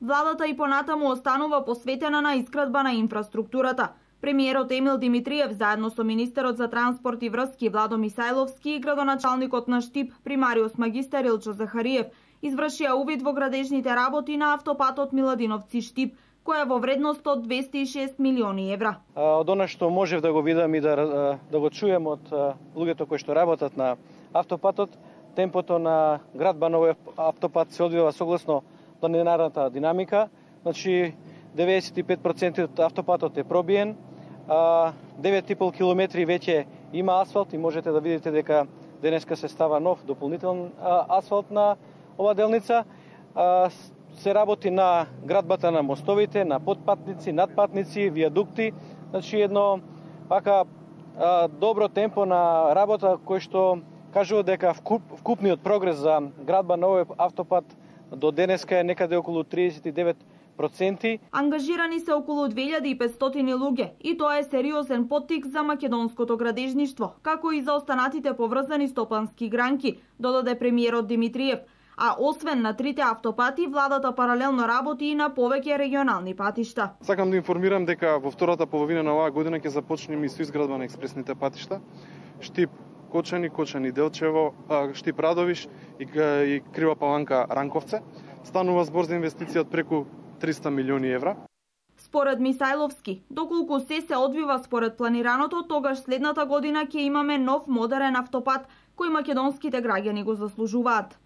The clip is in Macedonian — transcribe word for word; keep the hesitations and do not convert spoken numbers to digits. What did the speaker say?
Владата и понатаму останува посветена на изградба на инфраструктурата. Премиерот Емил Димитриев заедно со министерот за транспорт и врски Владо Мисајловски и градоначалникот на Штип примариус магистар Илчо Захариев извршија увид во градежните работи на автопатот Миладиновци-Штип, која е во вредност од двесте и шест милиони евра. Од она што можев да го видам и да, да го чуем од луѓето кои што работат на автопатот, темпото на градба на овој автопат се одвива согласно планинарната динамика. Значи деветдесет и пет проценти од автопатот е пробиен, девет и пол километри веќе има асфалт и можете да видите дека денеска се става нов дополнителен асфалт на ова делница. Се работи на градбата на мостовите, на подпатници, надпатници, виадукти. Значи едно вака добро темпо на работа кој што кажува дека вкуп, вкупниот прогрес за градба на овој автопат до денеска е некаде околу триесет и девет проценти. Ангажирани се околу две илјади и петстотини луѓе и тоа е сериозен поттик за македонското градежништво, како и за останатите поврзани стопански гранки, додаде премиерот Димитриев. А освен на трите автопати, владата паралелно работи и на повеќе регионални патишта. Сакам да информирам дека во втората половина на оваа година ќе започнеме и со изградба на експресните патишта. Штип Кочани, Кочани Делчево, Штип Радовиш и, и Крива Паланка Ранковце. Станува збор за инвестиција од преку триста милиони евра. Според Мисајловски, доколку се се одвива според планираното, тогаш следната година ќе имаме нов модерен автопат кој македонските граѓани го заслужуваат.